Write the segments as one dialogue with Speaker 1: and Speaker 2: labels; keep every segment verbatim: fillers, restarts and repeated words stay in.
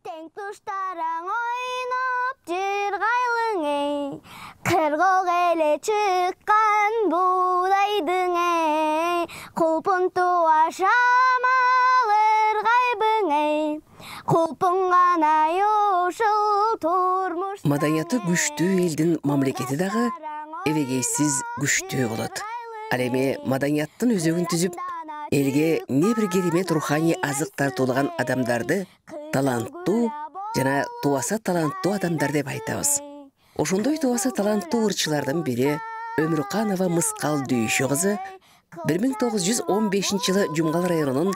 Speaker 1: Тең туштараң ойноп жыргайлың эй, кыргок эле чыккан буудайдың эй, кулпун туа шамал ыргайбың эй, кулпун гана ушул турмуш.
Speaker 2: Маданияты күчтүү элдин мамлекети дагы эбегейсиз күчтүү болот. Ал эми маданияттын өзөгүн түзүп, элге не бир керемет руханий азык тартуулаган адамдарды таланттуу жана туаса таланттуу адамдар деп айтабыз. Ошондой туаса таланттуу ырчылардын бири Өмүрканова Мыскал Дүйшү кызы бир миң тогуз жүз он бешинчи жылы Жумгал районунун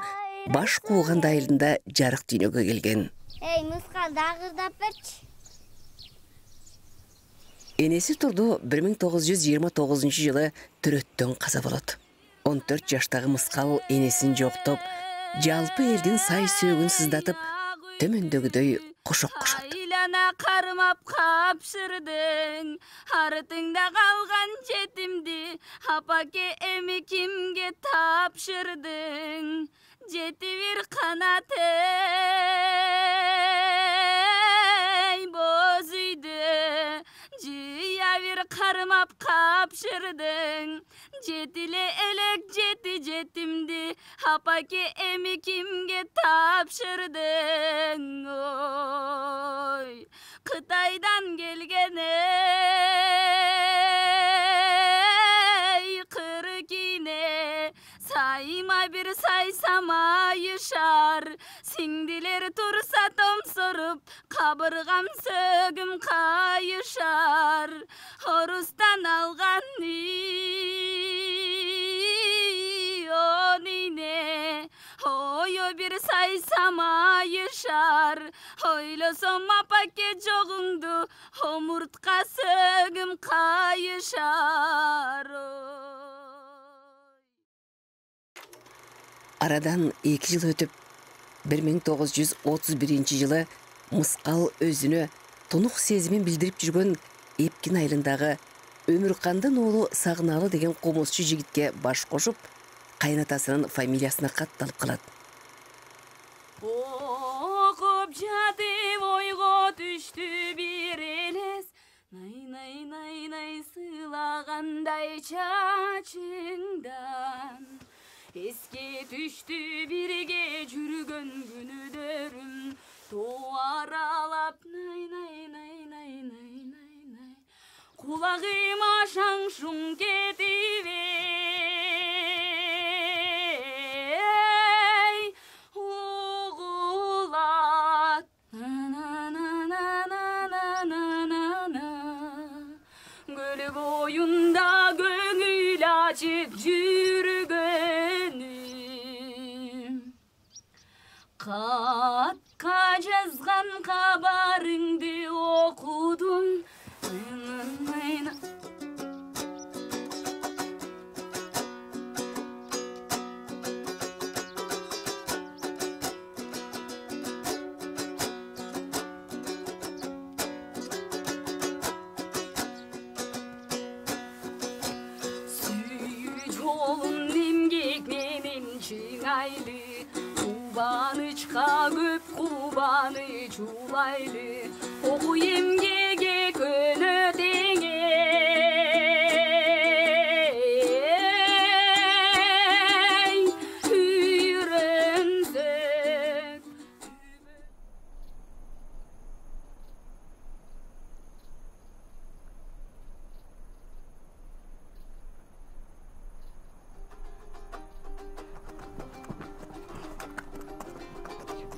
Speaker 2: Баш Кууган айылында жарык дүйнөгө келген.
Speaker 1: Эй, Мыскал, дагырдап берчи.
Speaker 2: Энеси Турду бир миң тогуз жүз жыйырма тогузунчу жылы төрөттөн каза болот. он төрт жаштагы Мыскал энесин жоктоп, жалпы элдин сай сөөгүн сыздатып, төмөндөгүдөй кошок кошот.
Speaker 3: Айлана кармап капшырдың, артыңда калган жетимди апаке эми кимге тапшырдың? Жети бир канат эй боз үйдө, жыя бир кармап капшырдың. Жетиле элек жети жетимди апаке эми кимге тапшырдың? Ой, Кытайдан келген эй кыры кине, сайма бир сайсама айышар, сиңдилер турса томсоруп, кабыргам сөгүм кайышар. Орустан алган онине, ойо бир сайсама айышар, ойлосом апаке жогуңду, омуртка сөгүм кайышар.
Speaker 2: Арадан эки жыл өтүп, бир миң тогуз жүз отуз биринчи жылы Мыскал өзүнө тунук сезимин билдирип жүргөн Эпкин айылындагы Өмүркандын уулу Сагыналы деген комузчу жигитке баш кошуп, кайнатасынын фамилиясына катталып калат.
Speaker 3: Окуп жатып ойго түштү бир элес, най-най-най-най сыйлагандай чачыңдан. Эске түштү бирге жүргөн күнүлөрүм, тоо аралап най-най-най-най-най-най, кулагыма шаң-шуң кетип эй угулат. На-на-на-на-на-на-на, көл боюнда көңүл ачып жүргөнүм, катка жазган кабарыңды окудум. Сүйүү жолун эмгек менен чыңайлы, кубанычка көп кубаныч улайлы, окуу эмгеге көнөт эңе үйрөнсөк.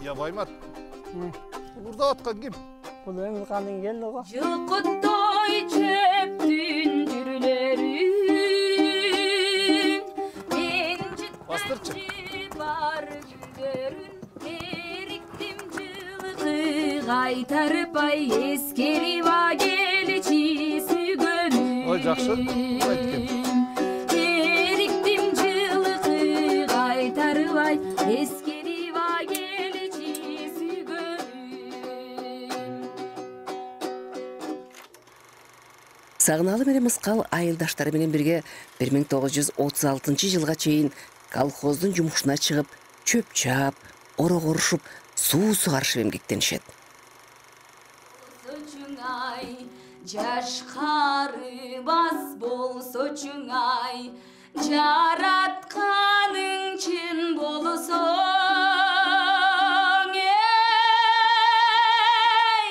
Speaker 4: Я Баймат, урда аткан ким?
Speaker 5: Бул Өмүркандын келди го.
Speaker 3: Жылкыттой чөптүн жүрүлөрүн, мен
Speaker 4: Бастырчы.
Speaker 3: жыттым бар күндөрүн, эриктим жылкы кайтарып ай, эскерип а келчи сүйгөнүм.
Speaker 4: Ой, жакшы, айткем.
Speaker 3: Эриктим жылкы кайтарып ай, эскерип а келчи сүйгөнүм.
Speaker 2: Сагыналы менен Мыскал айылдаштары менен бирге бир миң тогуз жүз отуз алтынчы жылга чейин колхоздун жумушуна чыгып, чөп чаап, орог орушуп, суу сугарышып эмгектенишет.
Speaker 3: жашкарыбас болсочуң ай, жаратканың чын болсоң эй,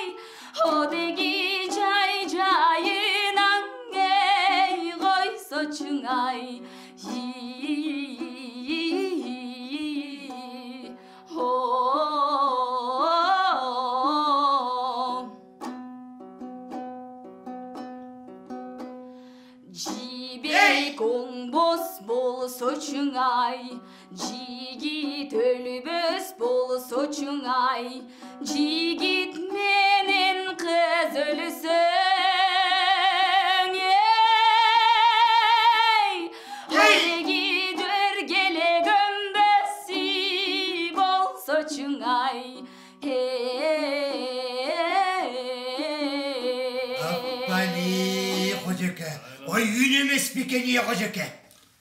Speaker 3: одеги жай жайынан эй койсочуң ай. Жибек оңбос болсочуң ай, жигит өлбөс болсочуң ай, жигит менен кыз өлсөң эй, одеги жөргеле көмбөсү болсочуң ай.
Speaker 6: Аппали кожеке, ой үйүн эмес бекен ие кожеке.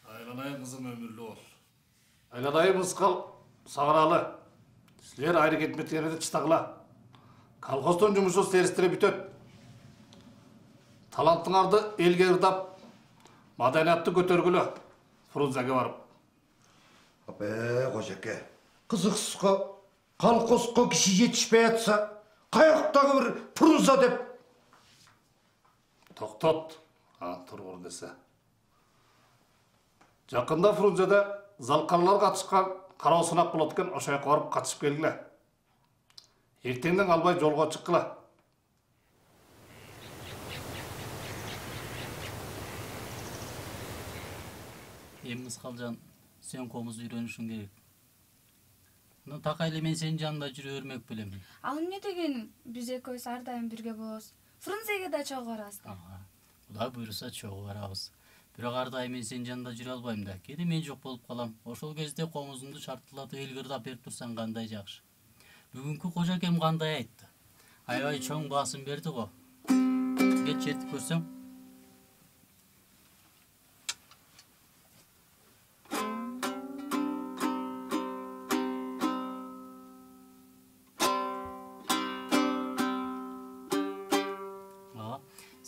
Speaker 4: Айланай кызым өмүрлүү бол. Айланай мыскал сагыралы. Силер айры кетметкенде чытагыла. Колхоздон жумушу серистире бүтөт. Талантыңарды элге ырдап, маданиятты көтөргүлө. Фрунзеге барып.
Speaker 6: Апе кожеке, кызыксызга колхозго киши жетишпей атса, каяктагы бир Фрунзе деп.
Speaker 4: Токтот, а тургур десе. Жакында Фрунзеде залкарлар катышкан кароо сынак болот экен, ошо жака барып катышып келгиле. Эртеңден албай жолго чыккыла.
Speaker 7: Эми Мыскалжан, сен комуз үйрөнүшүң керек. Мына такай эле мен сенин жанында жүрө бермек белем.
Speaker 8: Ал эмне дегеним? Биз экөөбүз ар дайым бирге болобуз. Фрунзеге да чогуу барабыз да.
Speaker 7: Кудай буйруса чогуу барабыз. Бирок ар дайым мен сенин жанында жүрө албайм да. Кээде мен жок болуп калам. Ошол кезде комузумду шартталатып элге ырдап берип турсаң кандай жакшы. Бүгүнкү кожакем кандай айтты? Аябай чоң басым берди го. Кет чертип көрсөң.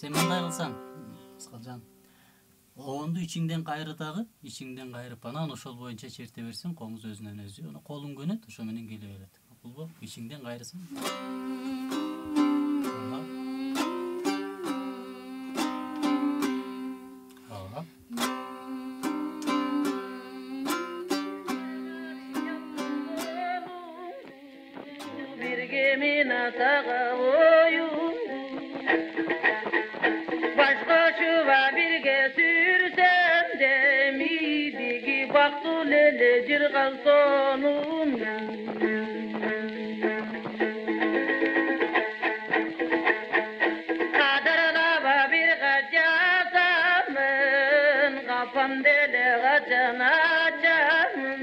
Speaker 7: Sen мындай кылсаң, Мыскалжан, оонду ичиңден кайры дагы, ичиңден кайрып, анан ошол боюнча черте берсең, комуз өзүнөн өзү, аны колуң көнөт, ошо менен келе берет. Макулбу? Ичиңден кайрысың. Ага.
Speaker 9: Бирге мен атага оюн Başkoşuva birge sürsem de midigi baktı lele cirgan sonun Kadarlaba bir kaçasamın Kafam dele kaçan açamın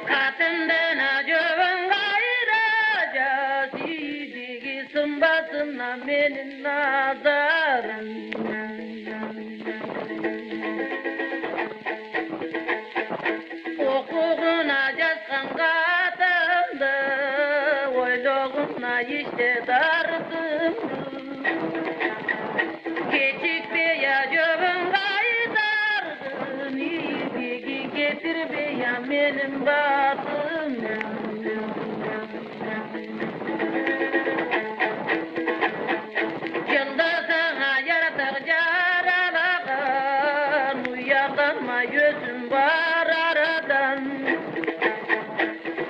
Speaker 9: Katından acıvın gayraca Sidigi sımbasına benim nazarım Okuğuna yazgan katımdı Oyluğuna işte dardım Geçikmeye acıvın gaydardın İdigi getirmeye benim batım Yılda sana yaratık caralagan Uyakanma gözüm var aradan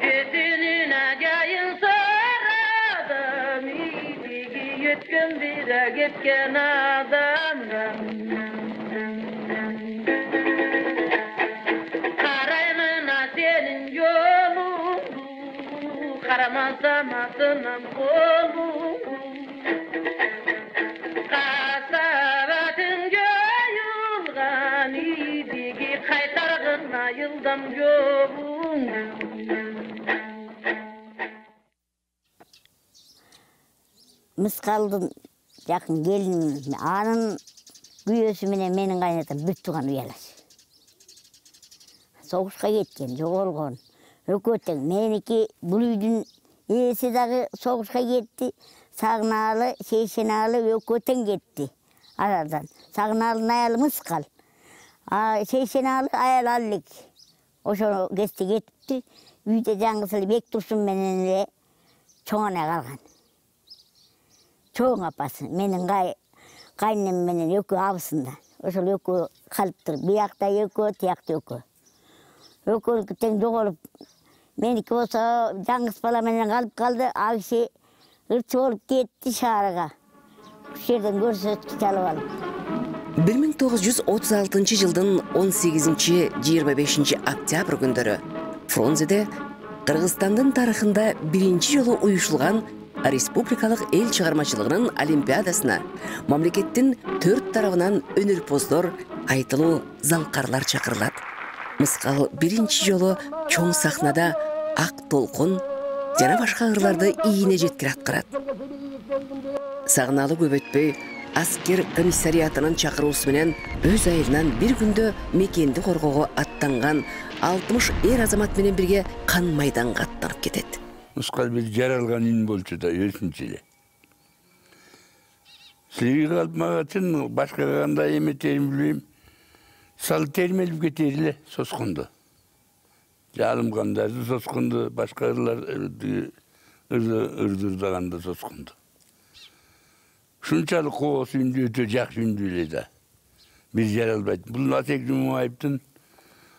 Speaker 9: Gözünün acayın soradım İdigi yetken bire getken adamdan Karaymına senin yolun Karamazsam atınam kolum Kasabatın göyülgan idigi Kaytargına yıldam yolun
Speaker 10: Мыскалдын жакын келини, анын күйөөсү менен менин кайнатам бир тууган уялаш. Согушка кеткен, жоголгон. Экөө тең. Меники бул үйдүн ээси дагы согушка кетти. Сагынаалы, Шейшенаалы экөө тең кетти арардан. Сагынаалынын аялы Мыскал. А Шейшенаалы аял Аллик. Ошо кести кетипти. Үйдө жаңгысы эле Бектурсун менен эле чоң ана калган. Чоң апасы менин кайнем менен экөө абысында. Ошол экөө калыптыр. Биякта экөө, тиякта экөө. Экөө тең жоголуп, меники болсо жаңгыс бала менен калып калды. А киши ырчы болуп кетти шаарга. Ушул жерден көрсөткү чалып алып.
Speaker 2: бир миң тогуз жүз отуз алтынчы жылдын он сегизинчи жыйырма бешинчи октябрь күндөрү Фрунзеде Кыргызстандын тарыхында биринчи жолу уюшулган республикалык эл чыгармачылыгынын олимпиадасына мамлекеттин төрт тарабынан өнөрпоздор, айтылуу залкарлар чакырылат. Мыскал биринчи жолу чоң сахнада ак толкун жана башка ырларды ийине жеткире аткарат. Сагынаалы көп өтпөй аскер комиссариатынын чакыруусу менен өз айылынан бир күндө мекенди коргоого аттанган алтымыш эр азамат менен бирге кан майданга аттанып кетет.
Speaker 11: Мыскал бир жаралган ин болчу да өзүнчө эле. Силерге калып мага чын башка кандай эметерин билбейм. Сал термелип кетер эле соскунду. Жалым кандайды соскунду, башка ырларды ырдырдаганда соскунду. Ушунчалык коос үндү өтө жакшы үндү эле да. Бир жаралбайт. Бул Атек Жумабаевдин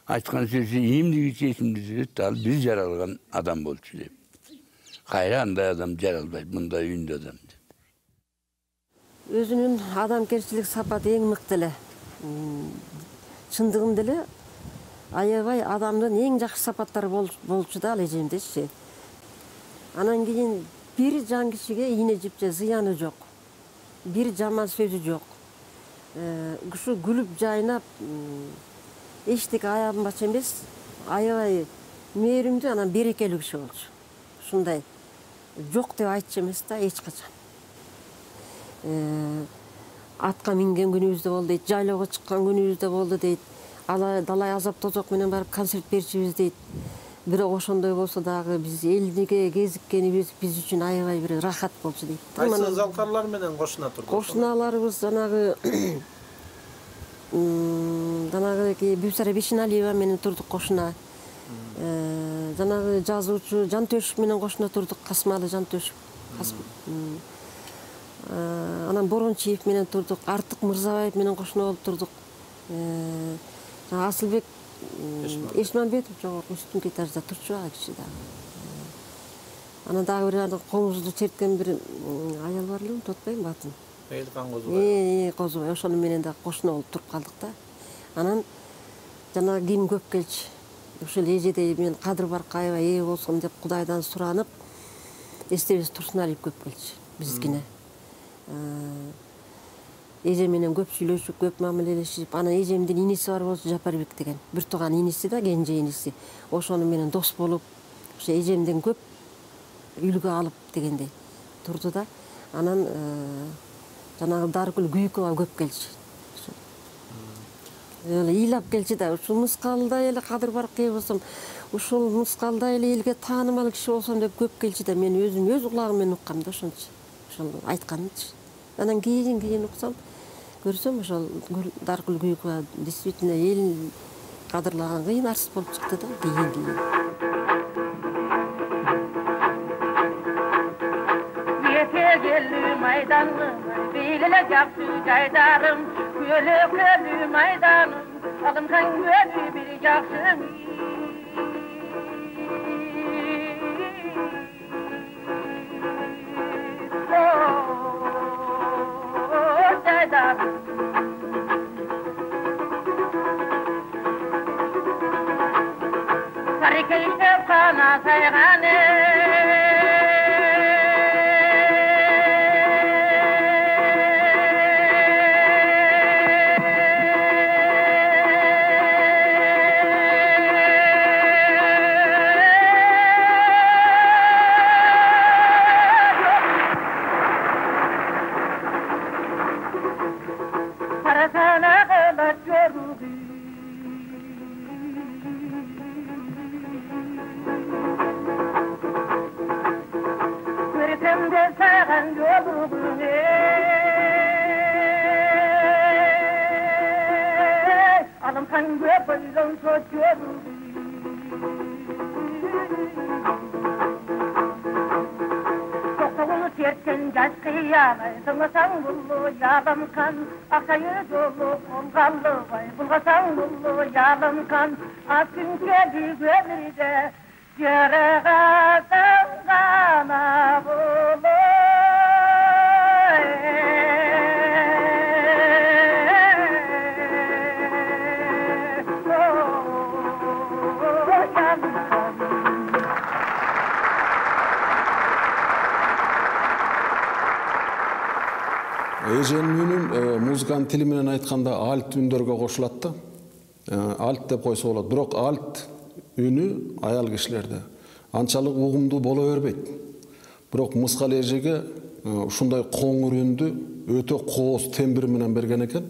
Speaker 11: айткан сөзү эмдигичи эсимде жүрөт, ал бир жаралган адам болчу деп. Кайра андай адам жаралбайт, мындай үндү адам деп.
Speaker 12: Өзүнүн адамгерчилик сапаты эң мыкты эле. Чындыгында эле аябай адамдын эң жакшы сапаттары болчу да ал эжемдечи. Анан кийин бир жан кишиге ийне жип же зыяны жок. Бир жаман сөзү жок. Ушу күлүп жайнап эчтеке аябынбачы эмес, аябай мээримдүү, анан берекелүү киши болчу. Ушундай жок деп айтчу эмес да эч качан. Атка минген күнүбүз да болду дейт, жайлоого чыккан күнүбүз да болду дейт. Далай азап тозок менен барып концерт берчүбүз дейт. Бирок ошондой болсо дагы биз элдиге кезиккенибиз биз үчүн аябай бир рахат болчу дейт.
Speaker 13: Кайсы залкарлар менен кошуна турду?
Speaker 12: Кошуналарыбыз жанагы жанагы Бүсара Бешеналиева менен турдук кошуна. Жанагы жазуучу Жантөшүп менен кошуна турдук, Касмалы Жантөшүп. Анан Борончиев менен турдук, Артык Мырзабаев менен кошуна болуп турдук. Асылбек Эшманбетов жогорку үстүн этажда турчу ал киши да. Анан дагы бир комузду черткен бир аял бар эле, унутпайм атын.
Speaker 13: Эйлкан Козубай.
Speaker 12: Э, Козубай, ошону менен да кошуна болуп туруп калдык да. Анан жана ким көп келчү. Ушул эжедей мен кадыр баркаева ээ болсом деп Кудайдан суранып, Эстебес Турсуналиев көп келчү бизгине. Эже менен көп сүйлөшүп, көп мамилелешип, анан эжемдин иниси бар болчу, Жапарбек деген. Бир тууган иниси да, кенже иниси. Ошону менен дос болуп, ошо эжемден көп үлгү алып дегендей турду да. Анан жанагы Даргүл Күйүкова көп келчү. Эле ыйлап келчү да, ушул Мыскалдай эле кадыр баркай болсом, ушул Мыскалдай эле элге таанымал киши болсом деп көп келчү да, мен өзүм өз кулагым менен уккам да ошончу. Ошол айтканынчы. Анан кийин кийин уксам, көрсөм ошол Даргүл Күйүкова действительно эл кадырлаган кыйын артист болуп чыкты да, кийин кийин.
Speaker 9: Yetegeli maydanlı, beylele yaptı caydarım, köyölü maydanım, alınkan gölü bir yaksın. Oh, caydarım. Sarıkı işte kana sayganı. Sen de sen бүгүн алымхан көп ойлонсо көрүлдү токтогул сертен жаш кыябай сыңасаң буллу ялымкан акчайы жолу колгалыбай булгасаң буллу ялымкан аз күн келди өмүргө жарагасаң гана болу
Speaker 14: Эженин үнүн музыканын тили менен айтканда альт үндөргө кошулат да. Альт деп койсо болот. Бирок альт үнү аял кишилерде анчалык угумдуу боло бербейт. Бирок мыскал эжеге ушундай коңур үндү өтө кооз тембир менен берген экен.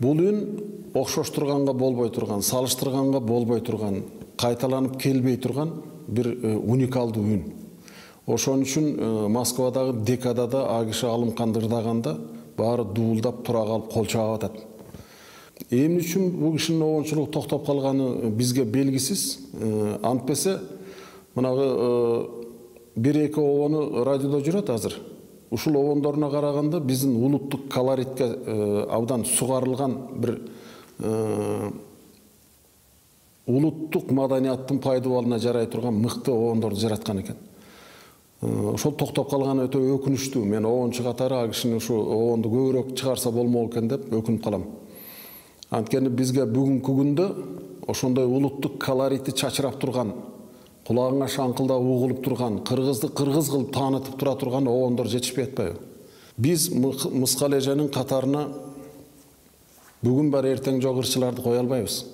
Speaker 14: Бул үн окшоштурганга болбой турган, салыштырганга болбой турган, кайталанып келбей турган бир уникалдуу үн. Ошон үчүн Москвадагы декадада а киши Алымканды ырдаганда баары дуулдап тура калып кол чаап атат. Эмне үчүн бул кишинин обончулугу токтоп калганы бизге белгисиз. Антпесе мынагы бир эки обону радиодо жүрөт азыр. Ушул обондоруна караганда биздин улуттук колоритке абдан сугарылган бир улуттук маданияттын пайдубалына жарай турган мыкты обондорду жараткан экен. Ошол токтоп калганы өтө өкүнүчтүү. Мен обончу катары а кишини ушу обонду көбүрөөк чыгарса болмок экен деп өкүнүп калам. Анткени бизге бүгүнкү күндө ошондой улуттук колорити чачырап турган, кулагыңа шаңкылдап угулуп турган, кыргызды кыргыз кылып таанытып тура турган обондор жетишпей атпайбы? Биз Мыскал эженин катарына бүгүн бар эртең жок ырчыларды кое албайбыз.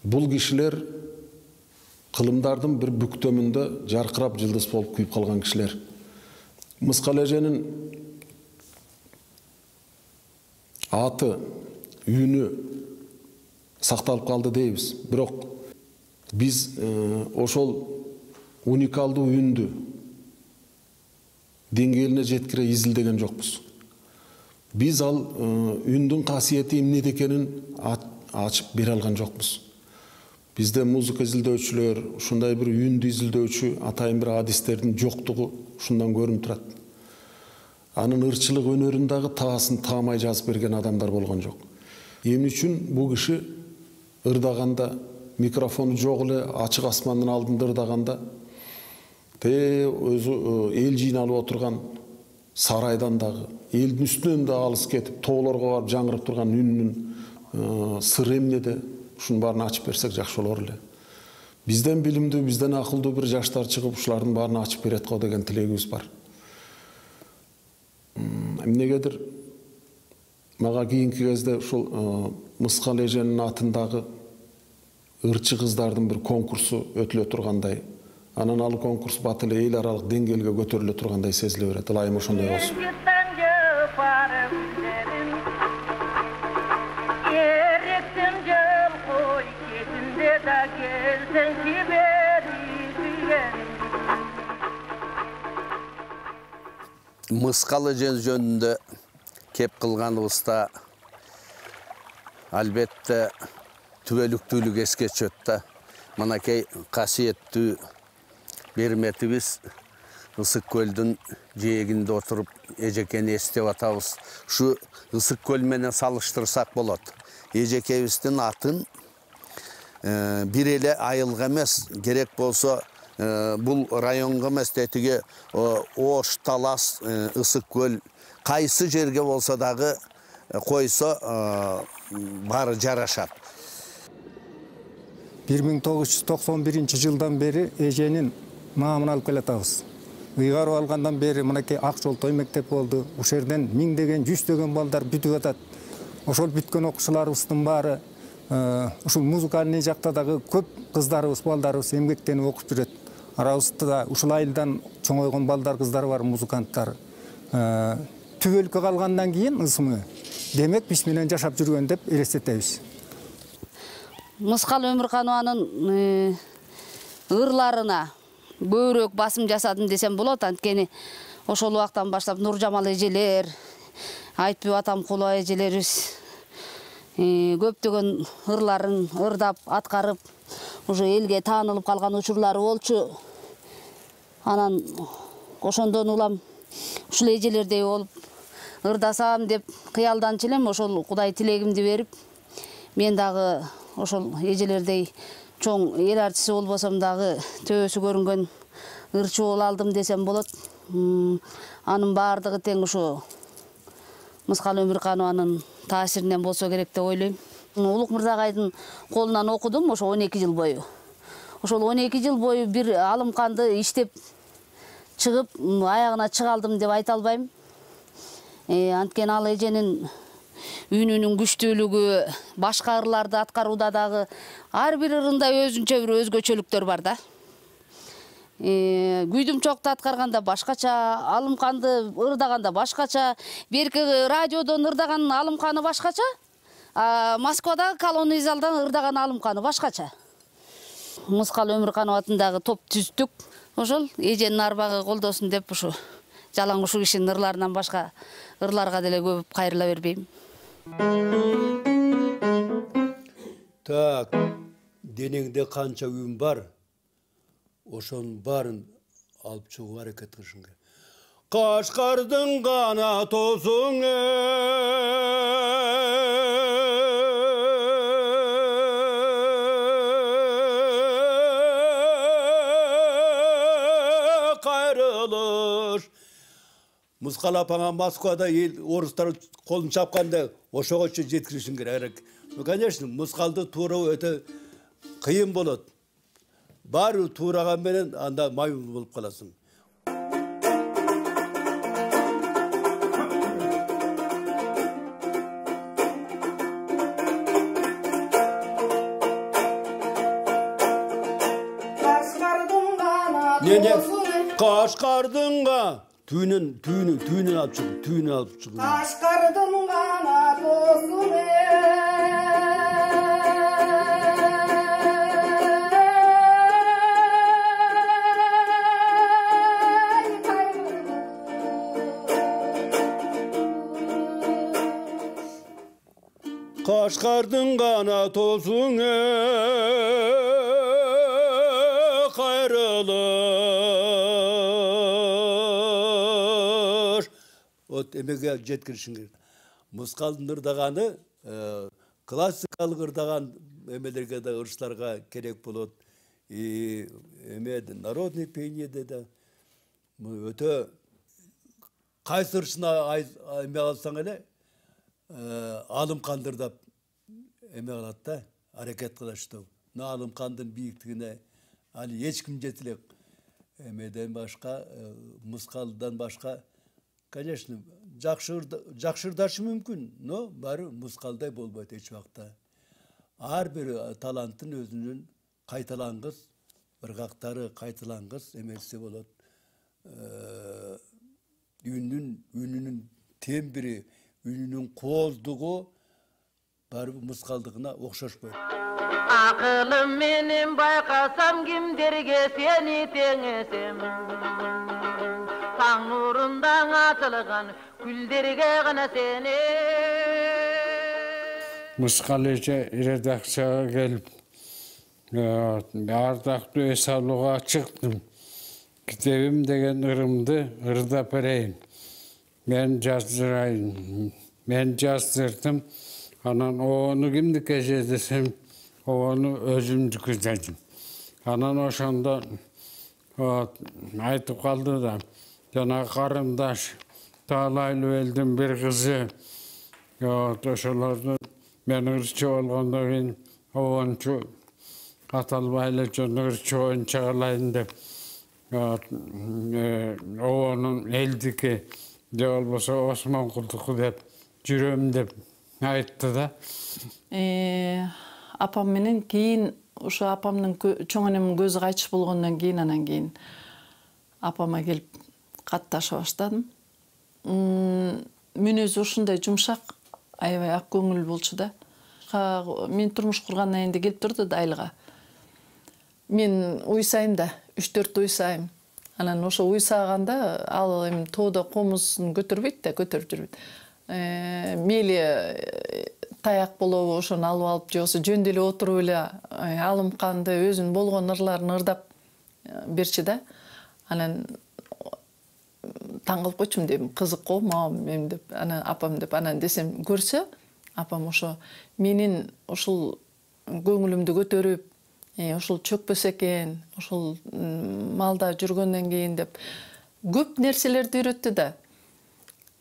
Speaker 14: Бул кишилер кылымдардын бир бүктөмүндө жаркырап жылдыз болуп күйүп калган кишилер. Мыскал эженин аты, үнү сакталып калды дейбиз. Бирок биз ошол уникалдуу үндү деңгээлине жеткире изилдеген жокпуз. Биз ал үндүн касиети эмнеде экенин ачып бере алган жокпуз. Бизде музыка изилдөөчүлөр, ушундай бир үндү изилдөөчү атайын бир адистердин жоктугу ушундан көрүнүп турат. Анын ырчылык өнөрүн дагы таасын таамай жазып берген адамдар болгон жок. Эмне үчүн бул киши ырдаганда, микрофону жок эле ачык асмандын алдында ырдаганда, те өзү эл жыйналып отурган сарайдан дагы, элдин үстүнөн да алыс кетип, тоолорго барып жаңырып турган үнүнүн сыры эмнеде? Ушунун баарын ачып берсек жакшы болор эле. Бизден билимдүү, бизден акылдуу бир жаштар чыгып ушулардын баарын ачып берет го деген тилегибиз бар. Эмнегедир мага кийинки кезде ушул Мыскал эженин атындагы ырчы кыздардын бир конкурсу өтүлө тургандай, анан ал конкурс бат эле эл аралык деңгээлге көтөрүлө тургандай сезиле берет. Ылайым ошондой болсун.
Speaker 11: Мыскал эже жөнүндө кеп кылганыбызда албетте түбөлүктүүлүк эске түшөт да. Мынакей касиеттүү берметибиз Ысык көлдүн жээгинде отуруп эжекени эстеп атабыз. Ушу Ысык көл менен салыштырсак болот. Эжекебиздин атын бир эле айылга эмес, керек болсо бул районго эмес, тетиги Ош, Талас, Ысык көл кайсы жерге болсо дагы койсо баары жарашат.
Speaker 15: бир миң тогуз жүз токсон биринчи жылдан бери эженин наамын алып келатабыз. Ыйгарып алгандан бери мынакей Ак жол той мектеп болду. Ошол жерден миңдеген, жүздөгөн балдар бүтүп атат. Ошол бүткөн окуучуларыбыздын баары ушул музыкальный жакта дагы көп кыздарыбыз, балдарыбыз эмгектенип окуп жүрөт. Арабызда ушул айылдан чоңойгон балдар, кыздар бар, музыканттар. Түбөлүккө калгандан кийин ысымы демек биз менен жашап жүргөн деп элестетебиз.
Speaker 16: Мыскал Өмүрканованын ырларына көбүрөөк басым жасадым десем болот. Анткени ошол убактан баштап Нуржамал эжелер, Айтбек Атамкулова эжелерибиз көптөгөн ырларын ырдап, аткарып, уже элге таанылып калган учурлары болчу. Анан ошондон улам ушул эжелердей болуп ырдасам деп кыялданчу элем. Ошол Кудай тилегимди берип, мен дагы ошол эжелердей чоң эл артисти болбосом дагы төбөсү көрүнгөн ырчы боло алдым десем болот. Анын баардыгы тең ушу Мыскал Өмүрканованын таасиринен болсо керек деп ойлойм. Улук Мырзагайдын колунан окудум ошо он эки жыл бою. Ошол он эки жыл бою бир алымканды иштеп чыгып, аягына чыга алдым деп айта албайм. Анткени ал эженин үнүнүн күчтүүлүгү, башка ырларды аткарууда дагы ар бир ырында өзүнчө бир өзгөчөлүктөр бар да. Күйдүм чокто аткарганда башкача, алымканды ырдаганда башкача, берки радиодон ырдаган алымканы башкача, Москвадагы колонный залдан ырдаган алымканы башкача. Мыскал Өмүркановатын дагы топ түздүк. Ошол эженин арбагы колдосун деп ушу жалаң ушу кишинин ырларынан башка ырларга деле көп кайрыла бербейм.
Speaker 17: Так, денеңде канча үн бар? Ошонун баарын алып чыгууга аракет кылышың керек. Кашкардын гана тосуң кайрылыш. Мыскал апаңа Москвада эл орустар колун чапканда ошогочу жеткиришиң керек. Ну, конечно, Мыскалды тууроо өтө кыйын болот. Баары туураган менен анда маймыл болуп каласың. Кашкардынга түйүнүн түйүнүн түйүнүн алып чыгып, түйүнүн алып чыгып.
Speaker 9: Кашкардын гана досуң
Speaker 17: Кашкардын гана тосуң кайрылыш. Вот эмеге жеткиришиң керек. Мыскалдын ырдаганы классикалык ырдаган эмелерге да, ырчыларга керек болот. Эме народный пениеде да өтө кайсы ырчына эме алсаң эле алымканды ырдап эме кылат да, аракет кылат что. Мына алымкандын бийиктигине али эч ким жете элек. Эмеден башка, Мыскалдан башка, конечно, жакшы жакшы ырдашы мүмкүн, но баары Мыскалдай болбойт эч убакта. Ар бир таланттын өзүнүн кайталангыс, ыргактары кайталангыс эмеси болот. Үнүнүн үнүнүн тембри, үнүнүн кооздугу баары Мыскалдыгына окшошпойт.
Speaker 9: Акылым менен байкасам кимдерге сени теңесем. Таң нурундан атылган күлдерге гана сени.
Speaker 18: Мыскал эже редакцияга келип, ардактуу эс алууга чыктым. Китебим деген ырымды ырдап берейин. Мен жаздырайын. Мен жаздырдым. Анан ону кимдике же десем, ону өзүмдүкү дедим. Анан ошондо айтып калды да, жана карындаш Таалайлуу элдин бир кызы, ошолордун мен ырчы болгондон кийин обончу аталбай эле жөн ырчы боюнча кылайын деп, обонун элдики же болбосо Осмонкулдуку деп жүрөм деп айтты да.
Speaker 19: Апам менен кийин ушу апамдын чоң энемдин көзү кайтыш болгондон кийин анан кийин апама келип катташа баштадым. Мүнөзү ушундай жумшак, аябай ак көңүл болчу да. Мен турмуш кургандан кийин келип турду да Айлыга. Мен уйсайм да, үч төрт уйсайм. Анан ошо уйсаганда ал эми тоодо комузун көтөрбөйт да, көтөрүп жүрбөйт. Мейли таяк болобу ошону алып алып же болбосо жөн деле отуруп эле алым канды өзүнүн болгон ырларын ырдап берчи да. Анан таң калып койчумун дейм, кызык го мам эми деп, анан апам деп, анан десем көрсө, апам ошо менин ушул көңүлүмдү көтөрүп, ушул чөкпөс экен, ушул малда жүргөндөн кийин деп көп нерселерди үйрөттү да.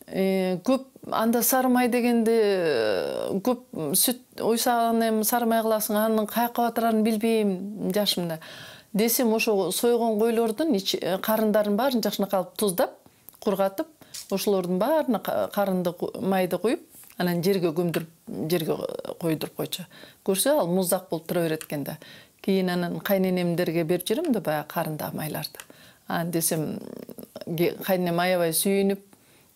Speaker 19: Көп анда сары май дегенди көп сүт уйсаган эми сары май кыласың, анын каяка батырарын билбейм жашымда. Десем ошо сойгон койлордун карындарын баарын жакшынакай алып туздап, кургатып, ошолордун баарына карынды майды куюп, анан жерге көмдүрүп, жерге койдуруп койчу. Көрсө ал муздак болуп тура берет экен да. Кийин анан кайненемдерге берип жүрөм да баягы карындагы майларды. Анан десем кайненем аябай сүйүнүп,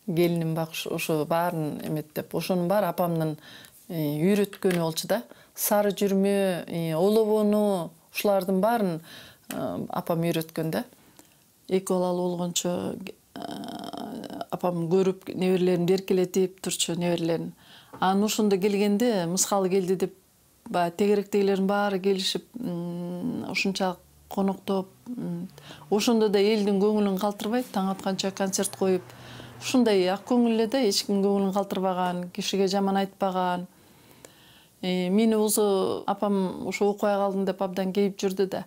Speaker 19: келиним бак ошо баарын эметтеп, ошонун баары апамдын үйрөткөнү болчу да. Сары жүрмө, олобону, ушулардын баарын апам үйрөткөн да. Эки балалуу болгончо апам көрүп неберелерин эркелетип турчу, неберелерин. Анан ошондо келгенде мыскалы келди деп баягы тегеректегилердин баары келишип, ушунчалык коноктоп, ошондо да элдин көңүлүн калтырбайт, таң атканча концерт коюп, ушундай ак көңүл эле да, эч ким көңүлүн калтырбаган, кишиге жаман айтпаган. Мени болсо апам ошо окуя калдым деп абдан кейип жүрдү да.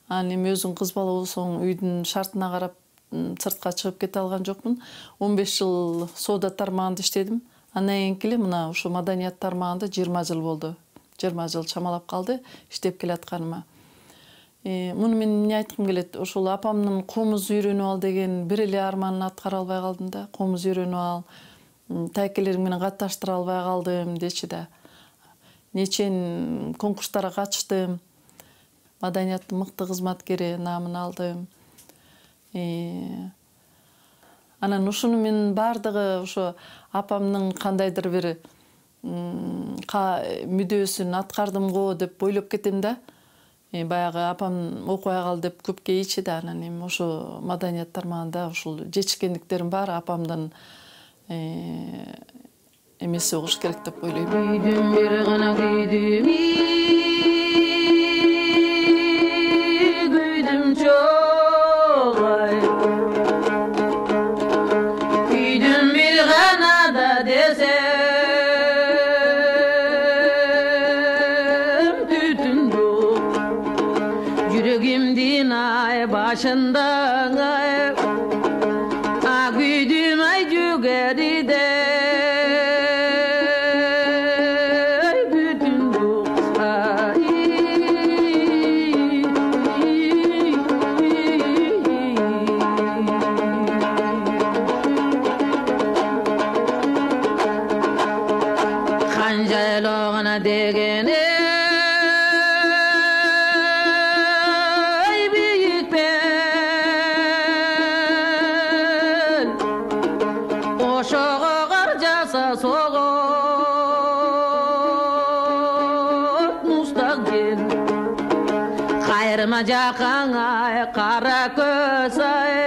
Speaker 19: Анан эми өзүң кыз бала болсоң үйдүн шартына карап сыртка чыгып кете алган жокмун. он беш жыл соода тармагында иштедим. Андан кийинки эле мына ушу маданият тармагында жыйырма жыл болду. жыйырма жыл чамалап калды иштеп келатканыма. Муну мен эмне айткым келет? Ошол апамдын комуз үйрөнүп ал деген бир эле арманын аткара албай калдым да. Комуз үйрөнүп ал, тайкелерим менен катташтыра албай калдым дечи да. Нечен конкурстарга катыштым. Маданияттын мыкты кызматкери наамын алдым. Анан ушуну мен баардыгы ошо апамдын кандайдыр бир мүдөөсүн аткардым го деп ойлоп кетем да. Баягы апам окуя кал деп көп кейичи да. Анан эми ошо маданият тармагында ушул жетишкендиктерим баары апамдын эмеси болуш керек деп ойлойм. Күйдүм бир гана күйдүм, күйдүм чогай. Күйдүм бир гана да десем, түтүндү жүрөгүмдүн ай башында ай. А күйдүм ай жүгөриде. Degene ay büyük ben oşoğa qarjasa soğuk mustaqil kayrıma jakan ay kara köz ay